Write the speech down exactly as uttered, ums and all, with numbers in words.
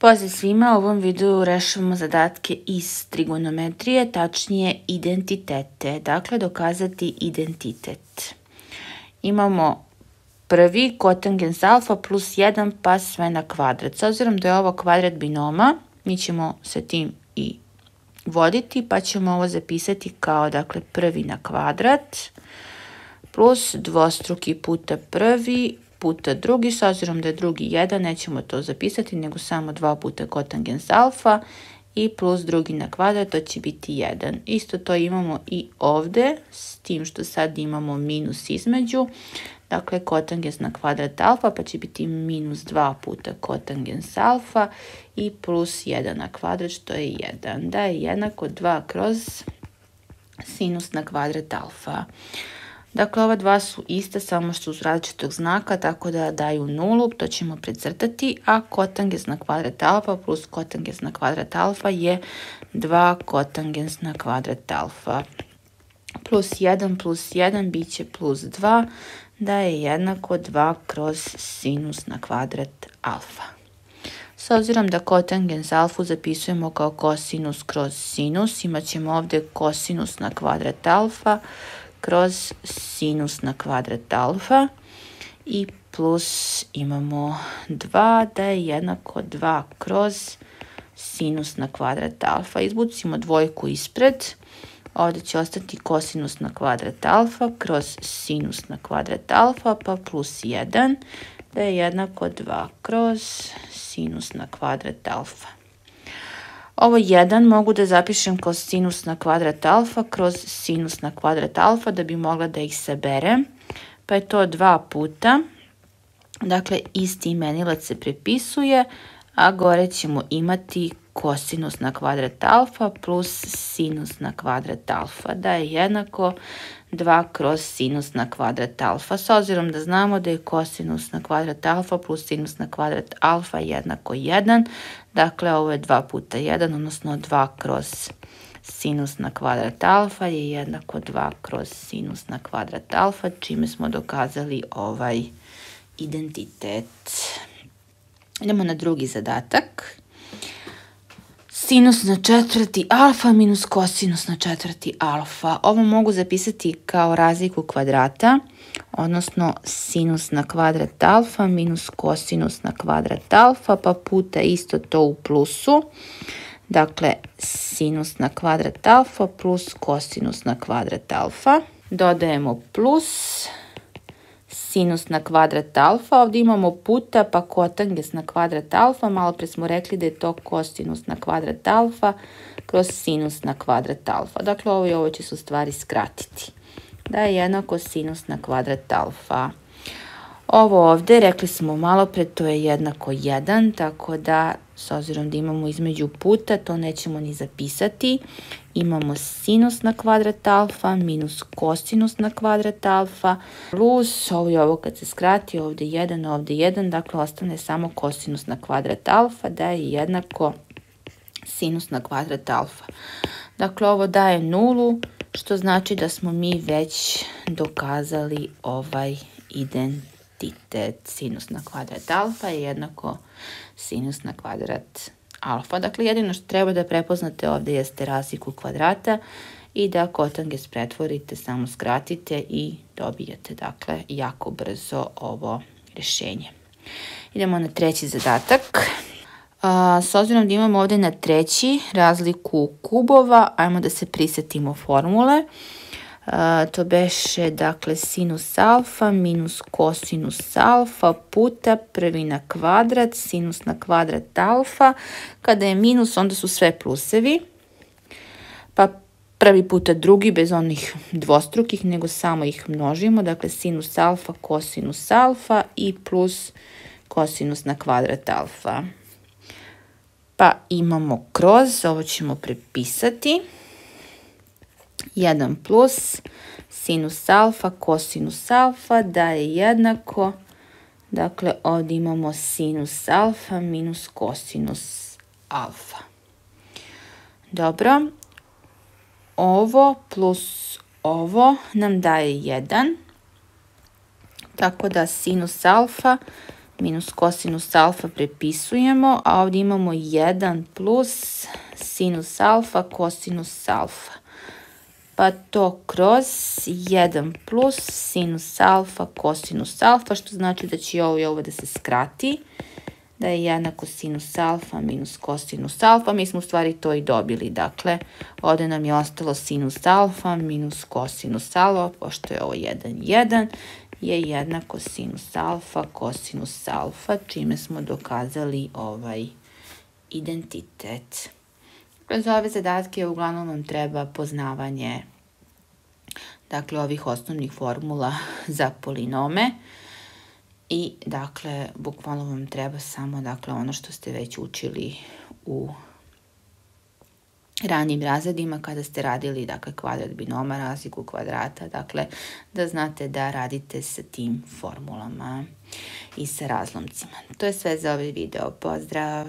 Pozdrav svima, u ovom videu rešavamo zadatke iz trigonometrije, tačnije identitete, dakle dokazati identitet. Imamo prvi kotangens alfa plus jedan pa sve na kvadrat. S obzirom da je ovo kvadrat binoma, mi ćemo se tim i voditi pa ćemo ovo zapisati kao dakle prvi na kvadrat plus dvostruki puta prvi puta drugi, s obzirom da je drugi jedan, nećemo to zapisati, nego samo dva puta kotangens alfa i plus drugi na kvadrat, to će biti jedan. Isto to imamo i ovde, s tim što sad imamo minus između, dakle kotangens na kvadrat alfa, pa će biti minus dva puta kotangens alfa i plus jedan na kvadrat, što je jedan. Da je jednako dva kroz sinus na kvadrat alfa. Dakle, ova dva su ista, samo što su različitog znaka, tako da daju nulu, to ćemo precrtati, a kotangens na kvadrat alfa plus kotangens na kvadrat alfa je dva kotangens na kvadrat alfa. Plus jedan plus jedan bit će plus dva, da je jednako dva kroz sinus na kvadrat alfa. S obzirom da kotangens alfu zapisujemo kao kosinus kroz sinus, imat ćemo ovdje kosinus na kvadrat alfa kroz sinus na kvadrat alfa i plus imamo dva, da je jednako dva kroz sinus na kvadrat alfa. Izbucimo dvojku ispred, ovdje će ostati kosinus na kvadrat alfa kroz sinus na kvadrat alfa pa plus jedan, da je jednako dva kroz sinus na kvadrat alfa. Ovo jedan mogu da zapišem kao sinus na kvadrat alfa kroz sinus na kvadrat alfa da bi mogla da ih saberem, pa je to dva puta. Dakle, isti imenilac se prepisuje, a gore ćemo imati kosinus na kvadrat alfa plus sinus na kvadrat alfa, da je jednako dva kroz sinus na kvadrat alfa. S obzirom da znamo da je kosinus na kvadrat alfa plus sinus na kvadrat alfa jednako jedan, dakle ovo je dva puta jedan, odnosno dva kroz sinus na kvadrat alfa je jednako dva kroz sinus na kvadrat alfa, čime smo dokazali ovaj identitet. Idemo na drugi zadatak. Sinus na četvrti alfa minus kosinus na četvrti alfa. Ovo mogu zapisati kao razliku kvadrata, odnosno sinus na kvadrat alfa minus kosinus na kvadrat alfa, pa puta isto to u plusu. Dakle, sinus na kvadrat alfa plus kosinus na kvadrat alfa. Dodajemo plus sinus na kvadrat alfa, ovdje imamo puta pa kotangens na kvadrat alfa, malo pre smo rekli da je to kosinus na kvadrat alfa kroz sinus na kvadrat alfa. Dakle, ovo i ovo će se u stvari skratiti. Da je jednako sinus na kvadrat alfa. Ovo ovdje, rekli smo malo pre, to je jednako jedan, tako da s obzirom da imamo između puta, to nećemo ni zapisati. Imamo sinus na kvadrat alfa minus kosinus na kvadrat alfa plus ovo i ovo kad se skrati, ovdje jedan, ovdje jedan, dakle ostane samo kosinus na kvadrat alfa, da je jednako sinus na kvadrat alfa. Dakle, ovo daje nulu, što znači da smo mi već dokazali ovaj identitet. Sinus na kvadrat alfa je jednako sinus na kvadrat alfa. Dakle, jedino što treba da prepoznate ovdje jeste razliku kvadrata i da kotangens pretvorite, samo skratite i dobijete, dakle, jako brzo ovo rješenje. Idemo na treći zadatak. A, s obzirom da imamo ovdje na treći razliku kubova, ajmo da se prisjetimo formule. Uh, to beše, dakle, sinus alfa minus kosinus alfa puta prvi na kvadrat, sinus na kvadrat alfa. Kada je minus, onda su sve plusevi. Pa prvi puta drugi, bez onih dvostrukih, nego samo ih množimo. Dakle, sinus alfa, kosinus alfa i plus kosinus na kvadrat alfa. Pa imamo kroz, ovo ćemo prepisati. jedan plus sinus alfa, kosinus alfa, da je jednako, dakle ovdje imamo sinus alfa minus kosinus alfa. Dobro, ovo plus ovo nam daje jedan, tako da sinus alfa minus kosinus alfa prepisujemo, a ovdje imamo jedan plus sinus alfa kosinus alfa. Pa to kroz jedan plus sinus alfa kosinus alfa, što znači da će ovo i ovo da se skrati, da je jednako sinus alfa minus kosinus alfa. Mi smo u stvari to i dobili, dakle ovdje nam je ostalo sinus alfa minus kosinus alfa, pošto je ovo jedan, jedan, je jednako sinus alfa kosinus alfa, čime smo dokazali ovaj identitet. Za ove zadatke uglavnom vam treba poznavanje, dakle, ovih osnovnih formula za polinome i, dakle, bukvalno vam treba samo, dakle, ono što ste već učili u ranijim razredima kada ste radili, dakle, kvadrat binoma, razliku kvadrata, dakle, da znate da radite sa tim formulama i sa razlomcima. To je sve za ovaj video. Pozdrav!